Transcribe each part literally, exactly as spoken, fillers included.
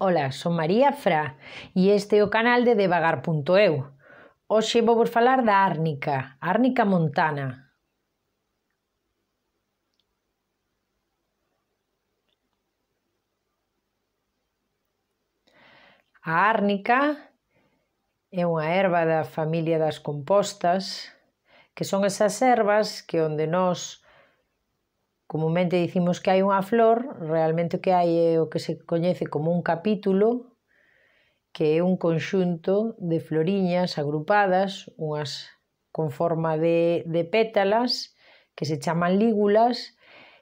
Ola, son María Fra e este é o canal de devagar punto eu. Hoxe vou vos falar da árnica, árnica montana. A árnica é unha herba da familia das compostas, que son esas herbas que onde nós comumente dicimos que hai unha flor, realmente o que hai é o que se coñece como un capítulo, que é un conxunto de floriñas agrupadas, unhas con forma de, de pétalas, que se chaman lígulas,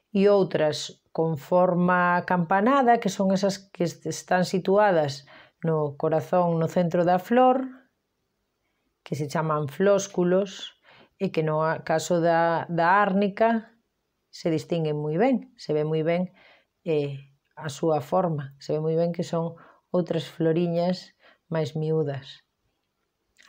e outras con forma campanada, que son esas que están situadas no corazón, no centro da flor, que se chaman flósculos, e que no caso da, da árnica se distinguen moi ben, se ve moi ben eh, a súa forma, se ve moi ben que son outras floriñas máis miúdas.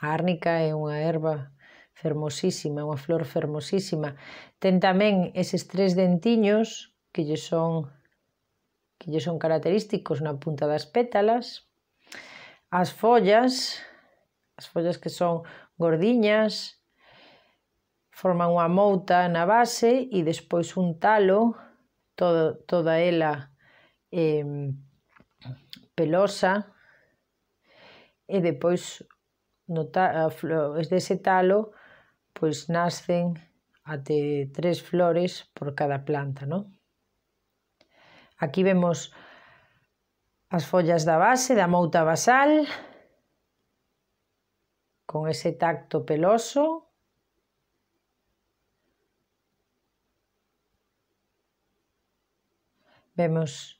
A árnica é unha herba fermosísima, unha flor fermosísima. Ten tamén eses tres dentiños que lle son, que lle son característicos na punta das pétalas. As follas, as follas que son gordiñas, forman unha mouta na base e despois un talo, todo, toda ela eh, pelosa, e depois no ta, dese talo pois nascen até tres flores por cada planta, non? Aquí vemos as follas da base, da mouta basal, con ese tacto peloso. Vemos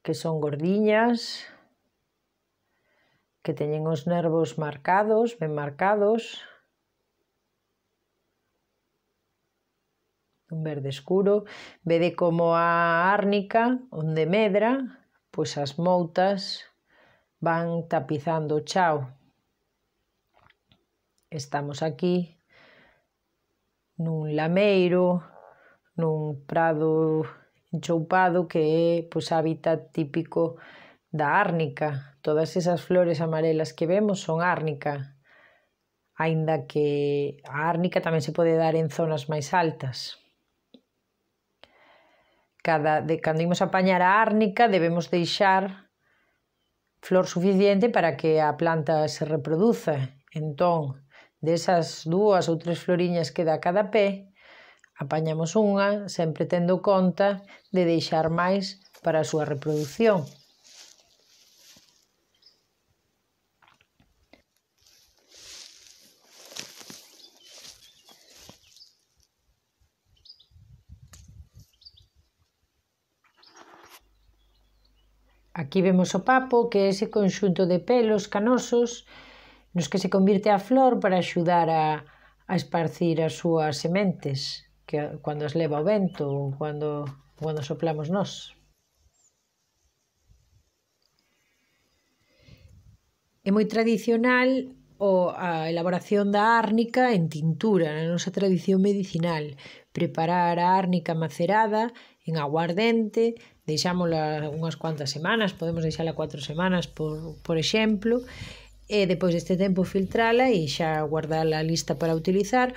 que son gordiñas, que teñen os nervos marcados, ben marcados, un verde escuro. Vede como a árnica, onde medra, pois as moutas van tapizando o chao. Estamos aquí nun lameiro, nun prado enchoupado que é pois, hábitat típico da árnica. Todas esas flores amarelas que vemos son árnica, aínda que a árnica tamén se pode dar en zonas máis altas. Cada, de, cando imos a apañar a árnica debemos deixar flor suficiente para que a planta se reproduza. Entón, desas dúas ou tres floriñas que dá cada pé, apañamos unha, sempre tendo conta de deixar máis para a súa reproducción. Aquí vemos o papo, que é ese conxunto de pelos canosos nos que se convirte a flor para axudar a, a esparcir as súas sementes, que cando as leva o vento ou cando, cando soplamos nós. É moi tradicional o, a elaboración da árnica en tintura, na nosa tradición medicinal. Preparar a árnica macerada en aguardente, deixámola unhas cuantas semanas, podemos deixala cuatro semanas, por, por exemplo, e depois deste tempo filtrala e xa guardala lista para utilizar,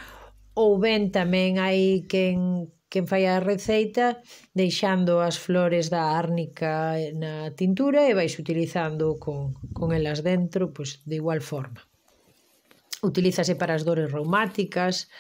ou ben tamén hai quen, quen fai a receita deixando as flores da árnica na tintura e vais utilizando con, con elas dentro, pois de igual forma. Utilízase para as dores reumáticas,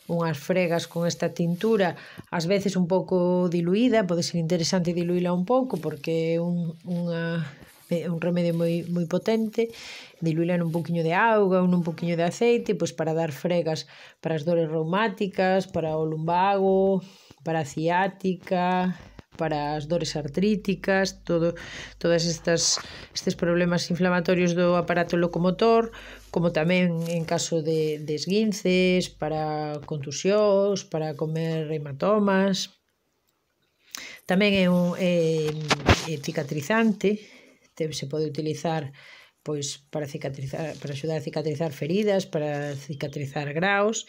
unhas fregas con esta tintura, ás veces un pouco diluída, pode ser interesante diluíla un pouco porque é un, unha, un remedio moi, moi potente, diluíla nun pouquiño de auga ou nun pouquiño de aceite, pois para dar fregas para as dores reumáticas, para o lumbago, para a ciática, para as dores artríticas, todo, todas estas estes problemas inflamatorios do aparato locomotor, como tamén en caso de, de esguinces, para contusións, para comer hematomas. Tamén é un é, é cicatrizante, se pode utilizar pois para cicatrizar, para axudar a cicatrizar feridas, para cicatrizar graos,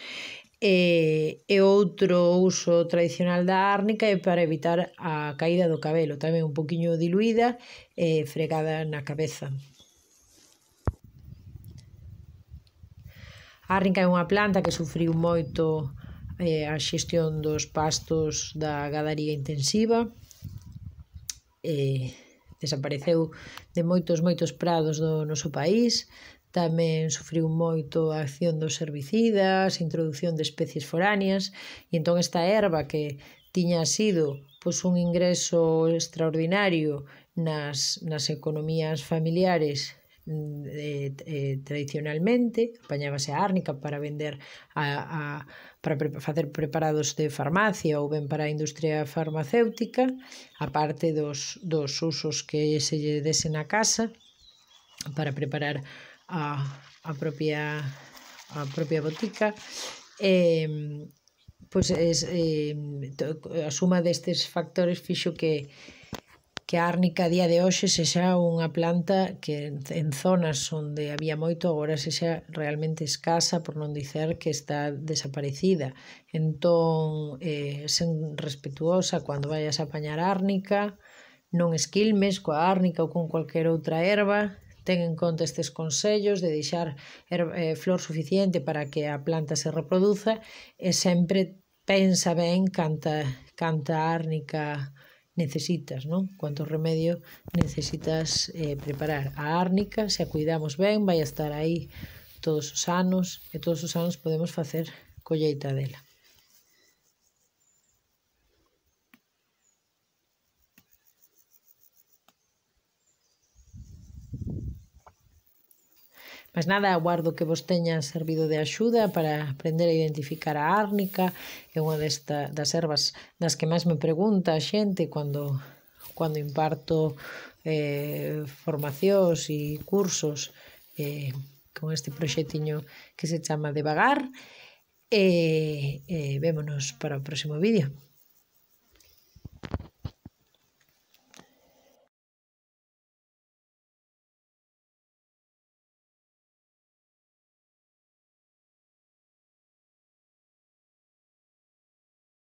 E, e outro uso tradicional da árnica é para evitar a caída do cabelo, tamén un poquinho diluída e fregada na cabeza. A árnica é unha planta que sufriu moito eh, a xestión dos pastos da gadaría intensiva, e desapareceu de moitos, moitos prados do noso país. Tamén sufriu moito a acción dos herbicidas, a introducción de especies foráneas, e entón esta erva que tiña sido pois, un ingreso extraordinario nas, nas economías familiares eh, eh, tradicionalmente, apañábase a árnica para vender a, a, para pre facer preparados de farmacia ou ben para a industria farmacéutica, aparte dos, dos usos que se lle dese na casa para preparar a, a propia a propia botica. E, pois es, eh, a suma destes factores fixo que que a árnica a día de hoxe sexa unha planta que en zonas onde había moito agora sexa realmente escasa, por non dicer que está desaparecida. Entón, eh, sen respetuosa cando vayas a apañar árnica, non esquilmes coa árnica ou con cualquier outra erva. Ten en conta estes consellos de deixar eh, flor suficiente para que a planta se reproduza e sempre pensa ben canta, canta árnica necesitas, non? Cuánto remedio necesitas eh, preparar. A árnica, se a cuidamos ben, vai estar aí todos os anos e todos os anos podemos facer colleita dela. Mas nada, aguardo que vos teña servido de axuda para aprender a identificar a árnica. É unha desta, das ervas das que máis me pregunta a xente cando, cando imparto eh, formacións e cursos eh, con este proxectiño que se chama Devagar. E, e vémonos para o próximo vídeo.